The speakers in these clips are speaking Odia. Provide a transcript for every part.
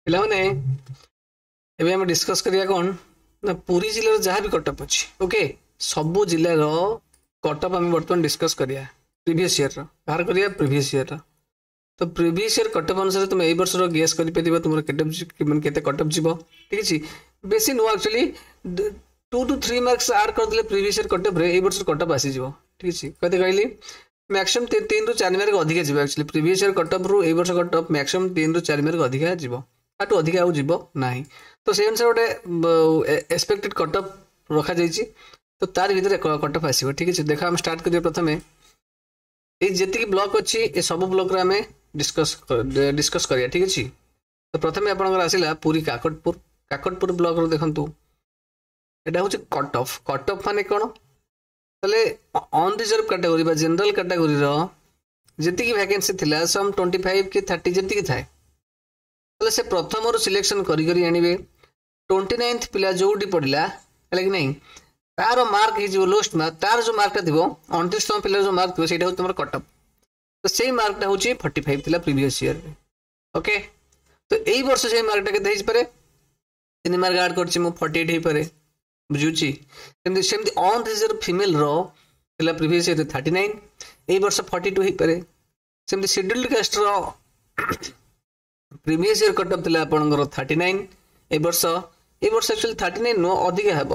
ପିଲାମାନେ, ଏବେ ଆମେ ଡିସ୍କସ୍ କରିବା କ'ଣ ନା ପୁରୀ ଜିଲ୍ଲାର ଯାହା ବି କଟଅଫ୍ ଅଛି। ଓକେ, ସବୁ ଜିଲ୍ଲାର କଟଅଫ୍ ଆମେ ବର୍ତ୍ତମାନ ଡିସ୍କସ୍ କରିବା, ପ୍ରିଭିୟସ୍ ଇୟର୍ର ବାହାର କରିବା ପ୍ରିଭିୟସ୍ ଇୟର୍ର। ତ ପ୍ରିଭିୟସ୍ ଇୟର୍ କଟଅଫ୍ ଅନୁସାରେ ତୁମେ ଏଇ ବର୍ଷର ଗେସ୍ କରିପାରିବ ତୁମର କେତେ, ମାନେ କେତେ କଟଅଫ୍ ଯିବ। ଠିକ୍ ଅଛି, ବେଶୀ ନୁହଁ, ଆକ୍ଚୁଆଲି 2 ଟୁ 3 ମାର୍କସ୍ ଆଡ୍ କରିଦେଲେ ପ୍ରିଭିୟସ୍ ଇୟର୍ କଟଅଫ୍ରେ ଏଇ ବର୍ଷର କଟଅଫ୍ ଆସିଯିବ। ଠିକ୍ ଅଛି, କେତେ କହିଲି? ମ୍ୟାକ୍ସିମମ୍ 3ରୁ 4 ମାର୍କ ଅଧିକା ଯିବ। ଆକ୍ଚୁଆଲି ପ୍ରିଭିୟସ୍ ଇୟର୍ କଟଅଫ୍ରୁ ଏଇ ବର୍ଷ କଟଅଫ୍ ମ୍ୟାକ୍ସିମମ୍ 3ରୁ 4 ମାର୍କ ଅଧିକା ଯିବ, ତାଠୁ ଅଧିକା ଆଉ ଯିବ ନାହିଁ। ତ ସେଇ ଅନୁସାରେ ଗୋଟେ ଏକ୍ସପେକ୍ଟେଡ୍ କଟଅଫ୍ ରଖାଯାଇଛି, ତ ତାରି ଭିତରେ କଟଅଫ୍ ଆସିବ। ଠିକ୍ ଅଛି, ଦେଖ, ଆମେ ଷ୍ଟାର୍ଟ କରିବା। ପ୍ରଥମେ ଏଇ ଯେତିକି ବ୍ଲକ୍ ଅଛି, ଏ ସବୁ ବ୍ଲକ୍ରେ ଆମେ ଡିସ୍କସ୍ କରିବା। ଠିକ୍ ଅଛି, ତ ପ୍ରଥମେ ଆପଣଙ୍କର ଆସିଲା ପୁରୀ କାକଟପୁର। କାକଟପୁର ବ୍ଲକ୍ରୁ ଦେଖନ୍ତୁ, ଏଇଟା ହେଉଛି କଟ୍ ଅଫ୍। କଟ୍ ଅଫ୍ ମାନେ କ'ଣ? ତାହେଲେ ଅନରିଜର୍ଭ କାଟାଗୋରୀ ବା ଜେନେରାଲ କାଟାଗୋରୀର ଯେତିକି ଭ୍ୟାକେନ୍ସି ଥିଲା, ସମ୍ 25 କି 30 ଯେତିକି ଥାଏ, ତାହେଲେ ସେ ପ୍ରଥମରୁ ସିଲେକ୍ସନ୍ କରି କରି ଆଣିବେ। 29th ପିଲା ଯେଉଁଠି ପଡ଼ିଲା, ହେଲା କି ନାହିଁ, ତାର ମାର୍କ ହେଇଯିବ ଲୋଏଷ୍ଟ ମାର୍କ। ତାର ଯେଉଁ ମାର୍କଟା ଥିବ, 29ତମ ପିଲାର ଯେଉଁ ମାର୍କ ଥିବ, ସେଇଟା ହେଉଛି ତୁମର କଟ୍ ଅଫ୍। ତ ସେଇ ମାର୍କଟା ହେଉଛି 45 ଥିଲା ପ୍ରିଭିୟସ୍ ଇୟର୍ରେ। ଓକେ, ତ ଏଇ ବର୍ଷ ସେଇ ମାର୍କଟା କେତେ ହେଇପାରେ? 3 ମାର୍କ ଆଡ୍ କରିଛି ମୁଁ, 48 ହେଇପାରେ। ବୁଝୁଛି? ସେମିତି ସେମିତି ଅନରିଜର୍ଭ ଫିମେଲର ଥିଲା ପ୍ରିଭିୟସ୍ ଇୟର୍ରେ 39, ଏଇ ବର୍ଷ 42 ହେଇପାରେ। ସେମିତି ସିଡ୍ୟୁଲ୍ଡ କାଷ୍ଟର ପ୍ରିଭିୟସ୍ ଇୟର୍ କଟ୍ ଅଫ୍ ଥିଲା ଆପଣଙ୍କର 39, ଏ ବର୍ଷ ଆକ୍ଚୁଆଲି 39 ନୁହଁ, ଅଧିକା ହେବ।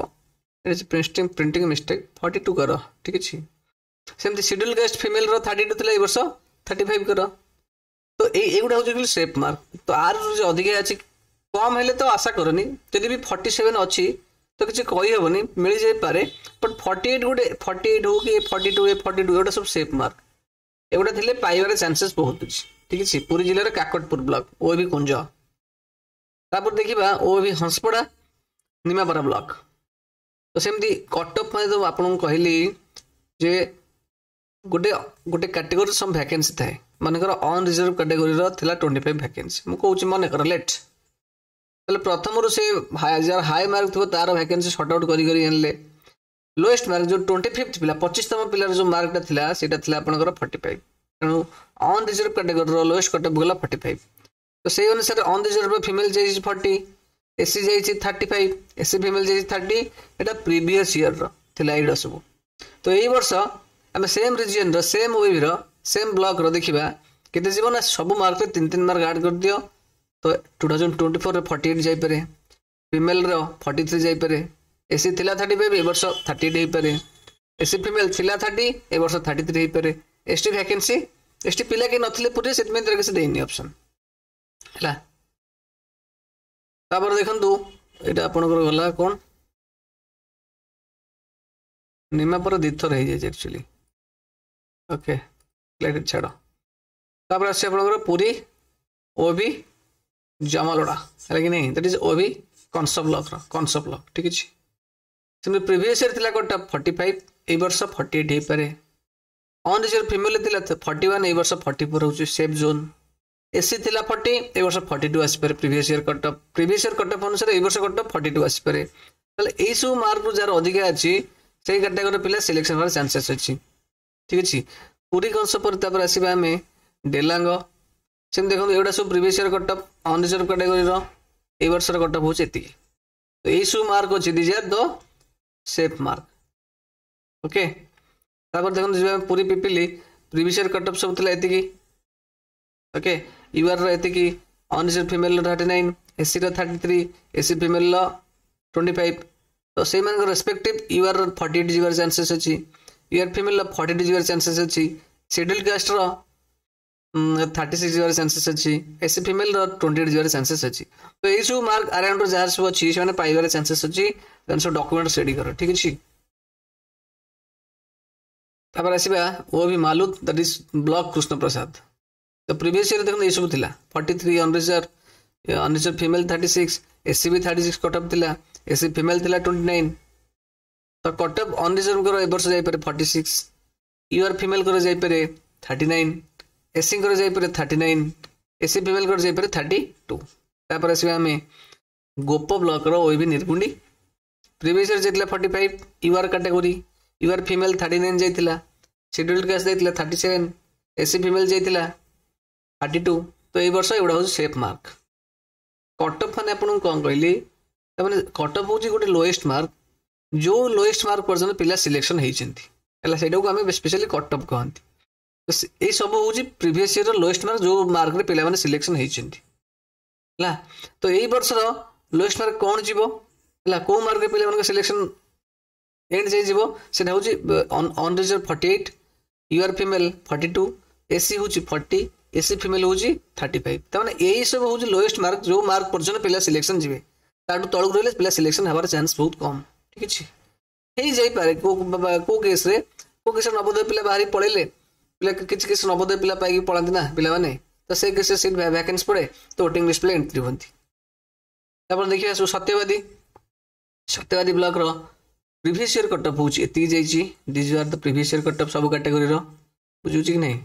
ପ୍ରିଣ୍ଟିଂ ମିଷ୍ଟେକ୍, 42 କର। ଠିକ୍ ଅଛି, ସେମିତି ସିଡ୍ୟୁଲ୍ କାଷ୍ଟ ଫିମେଲର 32 ଥିଲା, ଏଇ ବର୍ଷ 35 କର। ତ ଏଇଗୁଡ଼ା ହେଉଛି ସେଫ୍ ମାର୍କ। ତ ଆର ଅଧିକା ଅଛି, କମ୍ ହେଲେ ତ ଆଶା କରନି। ଯଦି ବି 47 ଅଛି ତ କିଛି କହିହେବନି, ମିଳିଯାଇପାରେ। ବଟ୍ 48 ଗୋଟେ, 48 ହଉ କି 42, ଏ 42, ଏଗୁଡ଼ା ସବୁ ସେଫ୍ ମାର୍କ। ଏଗୁଡ଼ା ଥିଲେ ପାଇବାର ଚାନ୍ସେସ୍ ବହୁତ ଅଛି। ଠିକ୍ ଅଛି, ପୁରୀ ଜିଲ୍ଲାର କାକଟପୁର ବ୍ଲକ, ଓ ବି କୁଞ୍ଜ। ତାପରେ ଦେଖିବା ଓ ବି ହଂସପଡ଼ା, ନିମାପଡ଼ା ବ୍ଲକ। ତ ସେମିତି କଟଅଫ୍ ମାନେ ତ ଆପଣଙ୍କୁ କହିଲି ଯେ ଗୋଟେ ଗୋଟେ କାଟେଗୋରୀ ସମ୍ ଭ୍ୟାକେନ୍ସି ଥାଏ। ମନେକର ଅନରିଜର୍ଭ କାଟେଗୋରୀର ଥିଲା 25 ଭ୍ୟାକେନ୍ସି, ମୁଁ କହୁଛି, ମନେକର ଲେଟ୍। ତାହେଲେ ପ୍ରଥମରୁ ସେ ଯାହାର ହାଇ ମାର୍କ ଥିବ, ତାର ଭ୍ୟାକେନ୍ସି ସର୍ଟ ଆଉଟ୍ କରି କରି ଆଣିଲେ। ଲୋଏଷ୍ଟ ମାର୍କ ଯେଉଁ 25th ପିଲା, 25ତମ ପିଲାର ଯେଉଁ ମାର୍କଟା ଥିଲା, ସେଇଟା ଥିଲା ଆପଣଙ୍କର 45। ତେଣୁ ଅନରିଜର୍ଭ କାଟେଗୋରୀର ଲୋଏଷ୍ଟ କଟଅଫ୍ ଗଲା 45। ତ ସେଇ ଅନୁସାରେ ଅନରିଜର୍ଭ ଫିମେଲ୍ ଯାଇଛି 40, ଏସସି ଯାଇଛି 35, ଏସସି ଫିମେଲ୍ ଯାଇଛି 30। ଏଇଟା ପ୍ରିଭିୟସ୍ ଇୟର୍ର ଥିଲା ଏଇଟା ସବୁ। ତ ଏଇ ବର୍ଷ ଆମେ ସେମ୍ ରିଜିଅନ୍ର, ସେମ୍ ୱେଭ୍ର, ସେମ୍ ବ୍ଲକ୍ର ଦେଖିବା କେତେ ଯିବ ନା ସବୁ ମାର୍କରେ 3 3 ମାର୍କ ଆଡ଼୍ କରିଦିଅ। ତ 2024ରେ 48 ଯାଇପାରେ, ଫିମେଲ୍ର 43 ଯାଇପାରେ। ଏସସି ଥିଲା 35, ଏ ବର୍ଷ 38 ହେଇପାରେ। ଏସସି ଫିମେଲ୍ ଥିଲା 30, ଏ ବର୍ଷ 33 ହେଇପାରେ। S T vacancy, S T ପିଲା କେହି ନଥିଲେ ପୁରୀରେ, ସେଥିପାଇଁ ତାର କିଛି ଦେଇନି ଅପସନ୍। ହେଲା, ତାପରେ ଦେଖନ୍ତୁ, ଏଇଟା ଆପଣଙ୍କର ଗଲା କ'ଣ, ନିମାପଡ଼ା ଦୁଇଥର ହେଇଯାଇଛି ଆକ୍ଚୁଆଲି। ଓକେ, ଛାଡ଼। ତାପରେ ଆସୁଛି ଆପଣଙ୍କର ପୁରୀ ଓ ବି ଜମାଲଡ଼ା, ହେଲା କି ନାହିଁ? That is ଓ ବି କଂସ ବ୍ଲକର, କଂସ ବ୍ଲକ। ଠିକ୍ ଅଛି, ସେମିତି ପ୍ରିଭିୟସ୍ ଇୟର୍ ଥିଲା କଟ୍ 45, ଏଇ ବର୍ଷ 48 ହେଇପାରେ। ଅନରିଜର୍ଭ ଫିମେଲ୍ ଥିଲା 41, ଏଇ ବର୍ଷ 44 ହେଉଛି ସେଫ୍ ଜୋନ୍। ଏସସି ଥିଲା 40, ଏ ବର୍ଷ 42 ଆସିପାରେ। Previous year cut off, previous year cut off ଅନୁସାରେ ଏଇ ବର୍ଷ କଟ୍ ଅଫ୍ 42 ଆସିପାରେ। ତାହେଲେ ଏଇସବୁ ମାର୍କରୁ ଯାହାର ଅଧିକା ଅଛି, ସେଇ କାଟାଗୋରୀର ପିଲା ସିଲେକ୍ସନ୍ ହେବାର ଚାନ୍ସେସ୍ ଅଛି। ଠିକ୍ ଅଛି, ପୁରୀ କଂସ ପରେ ତାପରେ ଆସିବା ଆମେ ଡେଲାଙ୍ଗ। ସେମିତି ଦେଖନ୍ତୁ, ଏଗୁଡ଼ା ସବୁ previous year cut off unreserved କାଟାଗୋରୀର। ଏଇ ବର୍ଷର କଟ୍ ଅଫ୍ ହେଉଛି ଏତିକି। ତ ଏଇସବୁ ମାର୍କ ଅଛି, these are the safe mark. Okay, ତାପରେ ଦେଖନ୍ତୁ, ଯିବା Puri Pipili. Previous year cut of ସବୁ ଥିଲା ଏତିକି। ଓକେ, ୟୁଆର୍ର ଏତିକି, ଅନରିଜର୍ଭ ଫିମେଲ୍ର 39, ଏସସିର 33, ଏସସି ଫିମେଲ୍ର 25। ତ ସେଇମାନଙ୍କର ରେସ୍ପେକ୍ଟିଭ୍ ୟୁଆର୍ର 48 ଯିବାର ଚାନ୍ସେସ୍ ଅଛି, ୟୁଆର୍ ଫିମେଲ୍ର 42 ଯିବାର ଚାନ୍ସେସ୍ ଅଛି, ସିଡ୍ୟୁଲ୍ କାଷ୍ଟର 36 ଯିବାର ଚାନ୍ସେସ୍ ଅଛି, ଏସସି ଫିମେଲ୍ର 28 ଯିବାର ଚାନ୍ସେସ୍ ଅଛି। ତ ଏଇସବୁ ମାର୍କ ଆରାଉଣ୍ଡର ଯାହାର ସବୁ ଅଛି, ସେମାନେ ପାଇବାର ଚାନ୍ସେସ୍ ଅଛି। ଦେନ୍ ସବୁ ଡକୁମେଣ୍ଟ ରେଡି କର। ଠିକ୍ ଅଛି, ତାପରେ ଆସିବା ଓ ବି ମାଲୁଦ, that is block Krishnaprasad. ତ ପ୍ରିଭିୟସ୍ ଇୟର୍ ଦେଖନ୍ତୁ, ଏଇସବୁ ଥିଲା 43 unreserved, unreserved female 36, SC ବି 36 କଟ୍ ଅଫ୍ ଥିଲା, ଏସସି ଫିମେଲ୍ ଥିଲା 29। ତ କଟ୍ ଅଫ୍ ଅନରିଜର୍ଭଙ୍କର ଏ ବର୍ଷ ଯାଇପାରେ 46, ୟୁଆର୍ ଫିମେଲ୍ଙ୍କର ଯାଇପାରେ 39, ଏସସିଙ୍କର ଯାଇପାରେ 39, ଏସସି ଫିମେଲ୍ଙ୍କର ଯାଇପାରେ 32। ତାପରେ ଆସିବା ଆମେ ଗୋପ ବ୍ଲକର ଓଏଭି ନିର୍ଗୁଣ୍ଡି। ପ୍ରିଭିୟସ୍ ଇୟର୍ ଯାଇଥିଲା 45 UR category, UR female 39 ଯାଇଥିଲା, ସିଡ୍ୟୁଲ୍ଡ କାଷ୍ଟ ଯାଇଥିଲା 37, ଏସସି ଫିମେଲ୍ ଯାଇଥିଲା 32। ତ ଏଇ ବର୍ଷ ଏଗୁଡ଼ା ହେଉଛି ସେଫ୍ ମାର୍କ। କଟଅଫ୍ ମାନେ ଆପଣଙ୍କୁ କ'ଣ କହିଲି? ତାମାନେ କଟଅଫ୍ ହେଉଛି ଗୋଟେ ଲୋଏଷ୍ଟ ମାର୍କ, ଯେଉଁ ଲୋଏଷ୍ଟ ମାର୍କ ପର୍ଯ୍ୟନ୍ତ ପିଲା ସିଲେକ୍ସନ୍ ହେଇଛନ୍ତି, ହେଲା, ସେଇଟାକୁ ଆମେ ସ୍ପେଶାଲି କଟଅଫ୍ କହନ୍ତି। ତ ଏଇ ସବୁ ହେଉଛି ପ୍ରିଭିୟସ୍ ଇୟର୍ର ଲୋଏଷ୍ଟ ମାର୍କ, ଯେଉଁ ମାର୍କରେ ପିଲାମାନେ ସିଲେକ୍ସନ୍ ହେଇଛନ୍ତି, ହେଲା। ତ ଏଇ ବର୍ଷର ଲୋଏଷ୍ଟ ମାର୍କ କ'ଣ ଯିବ, ହେଲା, କେଉଁ ମାର୍କରେ ପିଲାମାନଙ୍କ ସିଲେକ୍ସନ୍ ଏଣ୍ଡ ଯାଇ ଯିବ, ସେଇଟା ହେଉଛି unreserved 48, UR female 42, SC ହେଉଛି 40, ଏସ୍ ସି ଫିମେଲ୍ ହେଉଛି 35। ତାମାନେ ଏଇ ସବୁ ହେଉଛି ଲୋଏଷ୍ଟ ମାର୍କ, ଯେଉଁ ମାର୍କ ପର୍ଯ୍ୟନ୍ତ ପିଲା ସିଲେକ୍ସନ୍ ଯିବେ। ତାଠୁ ତଳକୁ ରହିଲେ ପିଲା ସିଲେକ୍ସନ୍ ହେବାର ଚାନ୍ସ ବହୁତ କମ୍, ଠିକ୍ ଅଛି। ହେଇଯାଇପାରେ କେଉଁ କେସ୍ରେ ନବୋଦୟ ପିଲା ବାହାରି ପଳେଇଲେ, ପିଲା କିଛି କିଛି ନବୋଦୟ ପିଲା ପାଇକି ପଳାନ୍ତି ନା ପିଲାମାନେ, ତ ସେ କେସ୍ରେ ସିଟ୍ ଭ୍ୟାକେନ୍ସି ପଡ଼େ, ତ ୱେଟିଂ ଲିଷ୍ଟ ପିଲା ଏଣ୍ଟ୍ରି ହୁଅନ୍ତି। ତାପରେ ଦେଖିବା ସବୁ ସତ୍ୟବାଦୀ ବ୍ଲକର ପ୍ରିଭିୟସ୍ ଇୟର୍ କଟଅଫ୍ ହେଉଛି ଏତିକି ଯାଇଛି। These are the previous year cutoff ସବୁ କାଟେଗୋରୀର, ବୁଝୁଛି କି ନାହିଁ?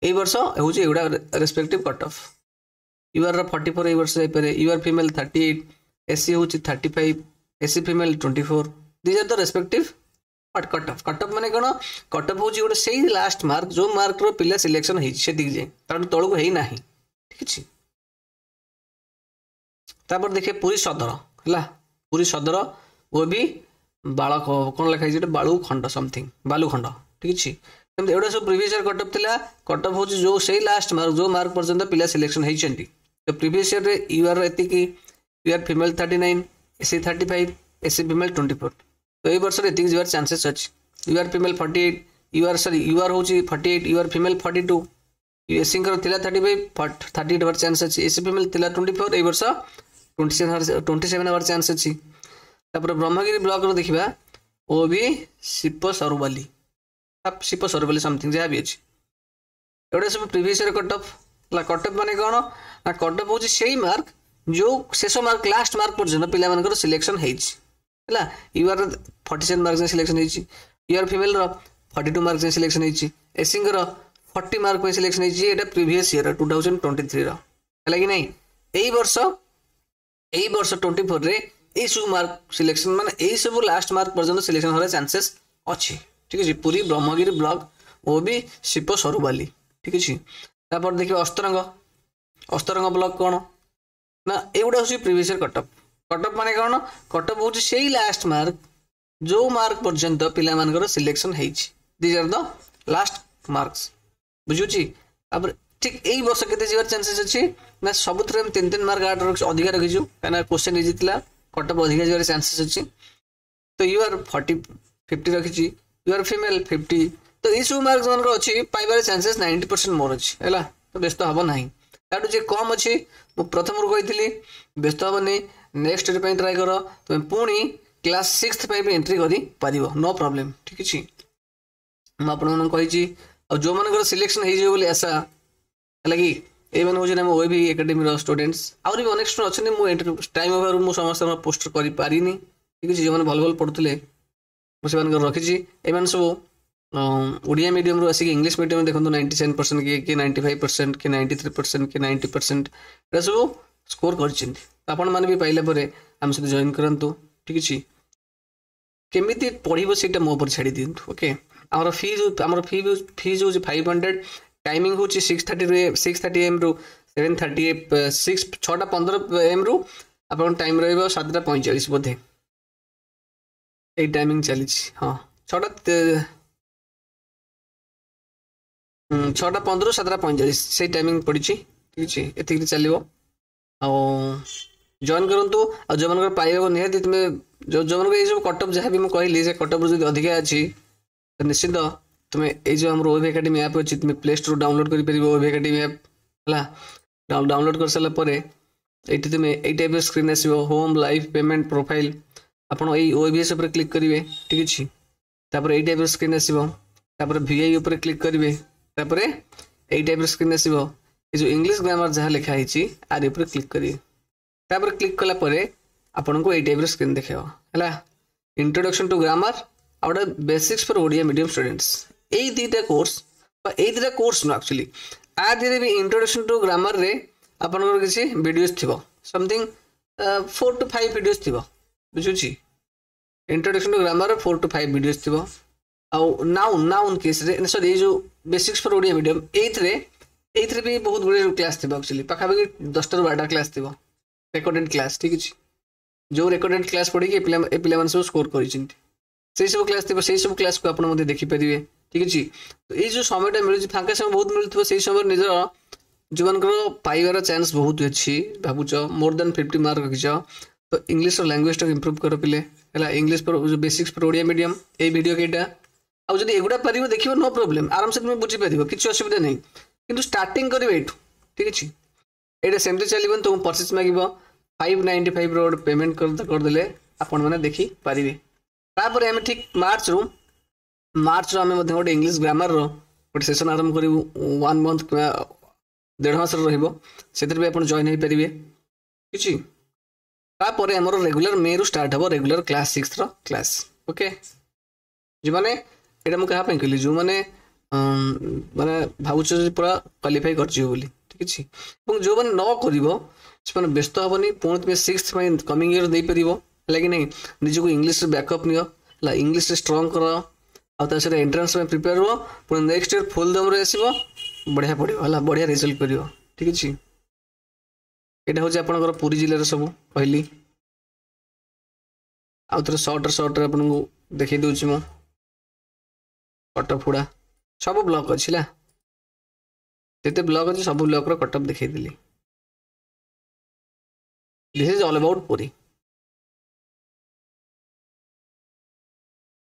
ଏଇ ବର୍ଷ ହେଉଛି ଏଗୁଡ଼ା ରେସ୍ପେକ୍ଟିଭ୍ କଟଅଫ୍। ୟୁଆର୍ର 44 ଏଇ ବର୍ଷ ଯାଇପାରେ, UR female 38, SC ହେଉଛି 35, SC female 24। These are the respective cutoff. Cutoff ମାନେ କ'ଣ? କଟଅଫ୍ ହେଉଛି ଗୋଟେ ସେଇ ଲାଷ୍ଟ ମାର୍କ, ଯେଉଁ ମାର୍କର ପିଲା ସିଲେକ୍ସନ୍ ହେଇଛି ସେତିକି ଯାଏ, ତାଠୁ ତଳକୁ ହେଇନାହିଁ, ଠିକ୍ ଅଛି। ତାପରେ ଦେଖିବେ ପୁରୀ ସଦର, ହେଲା, ପୁରୀ ସଦର ଓ ବି ବାଳକ କ'ଣ ଲେଖା ହେଇଛି ଏଟା, ବାଳୁ ଖଣ୍ଡ ସମଥିଙ୍ଗ, ବାଲୁଖଣ୍ଡ, ଠିକ୍ ଅଛି। ସେମିତି ଏଗୁଡ଼ା ସବୁ ପ୍ରିଭିୟସ୍ ଇୟର୍ କଟଅଫ୍ ଥିଲା। କଟଅଫ୍ ହେଉଛି ଯେଉଁ ସେଇ ଲାଷ୍ଟ ମାର୍କ, ଯେଉଁ ମାର୍କ ପର୍ଯ୍ୟନ୍ତ ପିଲା ସିଲେକ୍ସନ୍ ହେଇଛନ୍ତି। ତ ପ୍ରିଭିୟସ୍ ଇୟର୍ରେ ୟୁଆର୍ ଏତିକି, UR female 39, SC 35, SC female 24। ତ ଏଇ ବର୍ଷରେ ଏତିକି ଯିବାର ଚାନ୍ସେସ୍ ଅଛି। UR female 48, UR, sorry, UR ହେଉଛି 48, ୟୁଆର୍ ଫିମେଲ୍ 42, ଏସ୍ସିଙ୍କର ଥିଲା 35, 38 ହେବାର ଚାନ୍ସ ଅଛି। ଏସ୍ ସି ଫିମେଲ୍ ଥିଲା 24, ଏଇ ବର୍ଷ 27 ହେବାର ଚାନ୍ସ ଅଛି। ତାପରେ ବ୍ରହ୍ମଗିରି ବ୍ଲକର ଦେଖିବା, ଓ ବି ଶିପ ସରବାଲି ସମଥିଙ୍ଗ ଯାହା ବି ଅଛି। ଏଗୁଡ଼ା ସବୁ ପ୍ରିଭିୟସ୍ ଇୟର୍ କଟଅଫ୍, ହେଲା। କଟଅଫ୍ ମାନେ କ'ଣ ନା କଟଅଫ୍ ହେଉଛି ସେଇ ମାର୍କ, ଯେଉଁ ଶେଷ ମାର୍କ, ଲାଷ୍ଟ ମାର୍କ ପର୍ଯ୍ୟନ୍ତ ପିଲାମାନଙ୍କର ସିଲେକ୍ସନ୍ ହେଇଛି, ହେଲା। ୟୁଆର୍ 47 ମାର୍କ ଯାଏଁ ସିଲେକ୍ସନ୍ ହେଇଛି, ୟୁଆର୍ ଫିମେଲ୍ର 42 ମାର୍କ ଯାଏଁ ସିଲେକ୍ସନ୍ ହେଇଛି, ଏସ୍ସିଙ୍କର 40 ମାର୍କ ପାଇଁ ସିଲେକ୍ସନ୍ ହେଇଛି। ଏଇଟା ପ୍ରିଭିୟସ୍ ଇୟର୍ 2023ର, ହେଲା କି ନାହିଁ? ଏଇ ବର୍ଷ 24ରେ ଏଇସବୁ ମାର୍କ ସିଲେକ୍ସନ୍, ମାନେ ଏଇସବୁ ଲାଷ୍ଟ ମାର୍କ ପର୍ଯ୍ୟନ୍ତ ସିଲେକ୍ସନ୍ ହେବାର ଚାନ୍ସେସ୍ ଅଛି, ଠିକ୍ ଅଛି। ପୁରୀ ବ୍ରହ୍ମଗିରି ବ୍ଲକ ଓ ବି ଶିପ ସରୁବାଲି, ଠିକ୍ ଅଛି। ତାପରେ ଦେଖିବା ଅସ୍ତରଙ୍ଗ। ଅସ୍ତରଙ୍ଗ ବ୍ଲକ କ'ଣ ନା ଏଇଗୁଡ଼ା ହେଉଛି ପ୍ରିଭିୟସ୍ ଇୟର୍ କଟଅଫ୍। କଟଅଫ୍ ମାନେ କ'ଣ? କଟଅଫ୍ ହେଉଛି ସେଇ ଲାଷ୍ଟ ମାର୍କ, ଯେଉଁ ମାର୍କ ପର୍ଯ୍ୟନ୍ତ ପିଲାମାନଙ୍କର ସିଲେକ୍ସନ୍ ହେଇଛି। These are the last marks, ବୁଝୁଛି? ତାପରେ ଠିକ୍ ଏଇ ବର୍ଷ କେତେ ଯିବାର ଚାନ୍ସେସ୍ ଅଛି ନା ସବୁଥିରେ ଆମେ ତିନି ତିନି ମାର୍କ ଆଠ ଅଧିକା ରଖିଛୁ, କାହିଁକିନା କ୍ୱେଶ୍ଚନ୍ ଇଜି ଥିଲା, କଟଅଫ୍ ଅଧିକା ଯିବାର ଚାନ୍ସେସ୍ ଅଛି। ତ you ଆର୍ 50 ରଖିଛି, you R female 50। ତ ଏଇସବୁ ମାର୍କ ଯେଉଁମାନଙ୍କର ଅଛି, ପାଇବାର ଚାନ୍ସେସ୍ 90% ମୋର ଅଛି, ହେଲା। ତ ବ୍ୟସ୍ତ ହେବ ନାହିଁ। ତାଠୁ ଯିଏ କମ୍ ଅଛି, ମୁଁ ପ୍ରଥମରୁ କହିଥିଲି, ବ୍ୟସ୍ତ ହେବନି, ନେକ୍ସଟ ଇୟର୍ ପାଇଁ ଟ୍ରାଏ କର। ତୁମେ ପୁଣି କ୍ଲାସ୍ ସିକ୍ସ ପାଇଁ ବି ଏଣ୍ଟ୍ରି କରିପାରିବ, ନୋ ପ୍ରୋବ୍ଲେମ୍, ଠିକ୍ ଅଛି। ମୁଁ ଆପଣମାନଙ୍କୁ କହିଛି। ଆଉ ଯେଉଁମାନଙ୍କର ସିଲେକ୍ସନ୍ ହେଇଯିବ ବୋଲି ଆଶା, ହେଲା କି, ଏଇମାନେ ହେଉଛନ୍ତି ଆମ ଓଏଭି ଏକାଡେମୀର ଷ୍ଟୁଡେଣ୍ଟସ୍। ଆହୁରି ବି ଅନେକ ଷ୍ଟୁଡେଣ୍ଟ ଅଛନ୍ତି, ମୁଁ ଏଣ୍ଟ୍ରି ଟାଇମ୍ ଅଭାବରୁ ମୁଁ ସମସ୍ତଙ୍କର ପୋଷ୍ଟର କରିପାରିନି, ଠିକ୍ ଅଛି। ଯେଉଁମାନେ ଭଲ ଭଲ ପଢ଼ୁଥିଲେ, ମୁଁ ସେମାନଙ୍କର ରଖିଛି। ଏମାନେ ସବୁ ଓଡ଼ିଆ ମିଡ଼ିୟମରୁ ଆସିକି ଇଂଲିଶ ମିଡ଼ିୟମ, ଦେଖନ୍ତୁ, 97%, କିଏ କିଏ 95%, କିଏ 93%, କିଏ 90%, ଏଇଟା ସବୁ ସ୍କୋର କରିଛନ୍ତି। ତ ଆପଣମାନେ ବି ପାଇଲା ପରେ ଆମ ସହିତ ଜଏନ୍ କରନ୍ତୁ, ଠିକ୍ ଅଛି। କେମିତି ପଢ଼ିବ ସେଇଟା ମୋ ଉପରେ ଛାଡ଼ି ଦିଅନ୍ତୁ, ଓକେ। ଆମର ଫିଜ୍ ହେଉଛି 500। ଟାଇମିଂ ହେଉଛି 6:30ରୁ, 6:30 ଏମ୍ରୁ 7:36, 6:15 ଏମ୍ରୁ ଆପଣଙ୍କ ଟାଇମ୍ ରହିବ 7:45 ବୋଧେ। ଏଇ ଟାଇମିଂ ଚାଲିଛି, ହଁ, 6:15ରୁ 7:45, ସେଇ ଟାଇମିଂ ପଡ଼ିଛି, ଠିକ୍ ଅଛି। ଏତିକିରେ ଚାଲିବ ଆଉ ଜଏନ୍ କରନ୍ତୁ। ଆଉ ଯେଉଁମାନଙ୍କର ପାଇବାକୁ ନିହାତି ତୁମେ ଯେଉଁମାନଙ୍କର ଏଇ ସବୁ କଟଅଫ୍ ଯାହା ବି ମୁଁ କହିଲି, ସେ କଟଅଫ୍ରୁ ଯଦି ଅଧିକା ଅଛି, ତ ନିଶ୍ଚିନ୍ତ ତୁମେ ଏଇ ଯେଉଁ ଆମର ଓଏଭି ଏକାଡେମୀ ଆପ୍ ଅଛି, ତୁମେ ପ୍ଲେ ଷ୍ଟୋରରୁ ଡାଉନଲୋଡ୍ କରିପାରିବ ଓଏଭି ଏକାଡେମୀ ଆପ୍, ହେଲା। ଡାଉନଲୋଡ୍ କରିସାରିଲା ପରେ ଏଇଠି ତୁମେ ଏଇ ଟାଇପ୍ର ସ୍କ୍ରିନ୍ ଆସିବ, ହୋମ୍, ଲାଇଫ୍, ପେମେଣ୍ଟ, ପ୍ରୋଫାଇଲ୍। ଆପଣ ଏଇ ଓଏଭିଏସ୍ ଉପରେ କ୍ଲିକ୍ କରିବେ, ଠିକ୍ ଅଛି। ତାପରେ ଏଇ ଟାଇପ୍ର ସ୍କ୍ରିନ୍ ଆସିବ। ତାପରେ ଭିଆଇ ଉପରେ କ୍ଲିକ୍ କରିବେ। ତାପରେ ଏଇ ଟାଇପ୍ର ସ୍କ୍ରିନ୍ ଆସିବ। ଏ ଯେଉଁ ଇଂଲିଶ ଗ୍ରାମାର ଯାହା ଲେଖା ହେଇଛି, ଆରି ଉପରେ କ୍ଲିକ୍ କରିବେ। ତାପରେ କ୍ଲିକ୍ କଲା ପରେ ଆପଣଙ୍କୁ ଏଇ ଟାଇପ୍ର ସ୍କ୍ରିନ୍ ଦେଖେଇବ, ହେଲା, ଇଣ୍ଟ୍ରୋଡକ୍ସନ୍ ଟୁ ଗ୍ରାମାର ଆଉ ଗୋଟେ basics for Odia medium students। ଏଇ ଦୁଇଟା କୋର୍ସ ବା ଏଇ ଦୁଇଟା କୋର୍ସ ନୁହଁ ଆକ୍ଚୁଆଲି, ଆ ଦେହରେ ବି ଇଣ୍ଟ୍ରୋଡକ୍ସନ୍ ଟୁ ଗ୍ରାମାରରେ ଆପଣଙ୍କର କିଛି ଭିଡ଼ିଓସ୍ ଥିବ, ସମଥିଙ୍ଗ 4 ଟୁ 5 ଭିଡ଼ିଓସ୍ ଥିବ, ବୁଝୁଛି? Introduction to grammar 4 to 5 videos ଥିବ। ଆଉ ନାଉନ୍ କେସ୍ରେ, ସରି, ଏଇ ଯେଉଁ ବେସିକ୍ସ ଫର୍ ଓଡ଼ିଆ ମିଡ଼ିୟମ୍, ଏଇଥିରେ ବି ବହୁତ ଗୁଡ଼ିଏ କ୍ଲାସ୍ ଥିବ। ଆକ୍ଚୁଆଲି ପାଖାପାଖି 10ଟାରୁ 12ଟା କ୍ଲାସ୍ ଥିବ। ରେକର୍ଡେଡ୍ କ୍ଲାସ୍, ଠିକ୍ ଅଛି? ଯେଉଁ ରେକର୍ଡେଡ୍ କ୍ଲାସ୍ ପଢ଼ିକି ଏ ପିଲାମାନେ ସବୁ ସ୍କୋର କରିଛନ୍ତି, ସେଇ ସବୁ କ୍ଲାସ୍ ଥିବ, ସେଇ ସବୁ କ୍ଲାସ୍କୁ ଆପଣ ମଧ୍ୟ ଦେଖିପାରିବେ, ଠିକ୍ ଅଛି? ତ ଏଇ ଯେଉଁ ସମୟଟା ମିଳୁଛି, ଫାଙ୍କା ସମୟ ବହୁତ ମିଳୁଥିବ, ସେଇ ସମୟରେ ନିଜର ଯେଉଁମାନଙ୍କର ପାଇବାର ଚାନ୍ସ ବହୁତ ଅଛି ଭାବୁଛ, ମୋର୍ ଦେନ୍ 50 ମାର୍କ ରଖିଛ, ତ ଇଂଲିଶର ଲାଙ୍ଗୁଏଜଟାକୁ ଇମ୍ପ୍ରୁଭ୍ କର ପିଲେ, ହେଲା? English basics for Odia medium, ଏଇ ଭିଡ଼ିଓ କେଇଟା। ଆଉ ଯଦି ଏଗୁଡ଼ା ପାରିବ, ଦେଖିବ, ନୋ ପ୍ରୋବ୍ଲେମ୍, ଆରାମସେ ତୁମେ ବୁଝିପାରିବ, କିଛି ଅସୁବିଧା ନାହିଁ। କିନ୍ତୁ ଷ୍ଟାର୍ଟିଂ କରିବ ଏଇଠୁ, ଠିକ୍ ଅଛି? ଏଇଟା ସେମିତି ଚାଲିବନି, ତୁମକୁ ପରଚେସ୍ ମାଗିବ। 595ର ଗୋଟେ ପେମେଣ୍ଟ କରିଦେଲେ ଆପଣମାନେ ଦେଖିପାରିବେ। ତାପରେ ଆମେ ଠିକ୍ ମାର୍ଚ୍ଚରୁ ଆମେ ମଧ୍ୟ ଗୋଟେ ଇଂଲିଶ ଗ୍ରାମାରର ଗୋଟେ ସେସନ୍ ଆରମ୍ଭ କରିବୁ। ୱାନ୍ ମନ୍ଥ କିମ୍ବା ଦେଢ଼ ମାସର ରହିବ, ସେଥିରେ ବି ଆପଣ ଜଏନ୍ ହେଇପାରିବେ କିଛି। ତାପରେ ଆମର ରେଗୁଲାର ମେରୁ ଷ୍ଟାର୍ଟ ହେବ regular class sixer class, okay? ଯେଉଁମାନେ, ଏଇଟା ମୁଁ କାହା ପାଇଁ କହିଲି? ଯେଉଁମାନେ ମାନେ ଭାବୁଛ ଯେ ପୁରା କ୍ୱାଲିଫାଇ କରିଯିବ ବୋଲି, ଠିକ୍ ଅଛି? ଏବଂ ଯେଉଁମାନେ ନ କରିବ, ସେମାନେ ବ୍ୟସ୍ତ ହେବନି। ପୁଣି ତୁମେ ସିକ୍ସ ପାଇଁ କମିଂ ଇୟର ଦେଇପାରିବ, ହେଲା କି ନାହିଁ? ନିଜକୁ ଇଂଲିଶରେ ବ୍ୟାକଅପ୍ ନିଅ, ହେଲା? ଇଂଲିଶରେ ଷ୍ଟ୍ରଙ୍ଗ କର ଆଉ ତା ସହିତ ଏଣ୍ଟ୍ରାନ୍ସ ପାଇଁ ପ୍ରିପେୟାର ହୁଅ। ପୁଣି ନେକ୍ସଟ ଇୟର ଫୁଲ୍ ଦମରେ ଆସିବ, ବଢ଼ିଆ ପଢ଼ିବ, ହେଲା? ବଢ଼ିଆ ରେଜଲ୍ଟ କରିବ, ଠିକ୍ ଅଛି? ଏଇଟା ହେଉଛି ଆପଣଙ୍କର ପୁରୀ ଜିଲ୍ଲାର ସବୁ କହିଲି। ଆଉ ଥରେ ସର୍ଟରେ ଆପଣଙ୍କୁ ଦେଖେଇ ଦେଉଛି ମୁଁ କଟଅଫ୍ ଗୁଡ଼ା। ସବୁ ବ୍ଲକ୍ ଅଛି, ହେଲା? ଯେତେ ବ୍ଲକ୍ ଅଛି, ସବୁ ବ୍ଲକ୍ର cut-off ଦେଖେଇଦେଲି। This is all about Puri.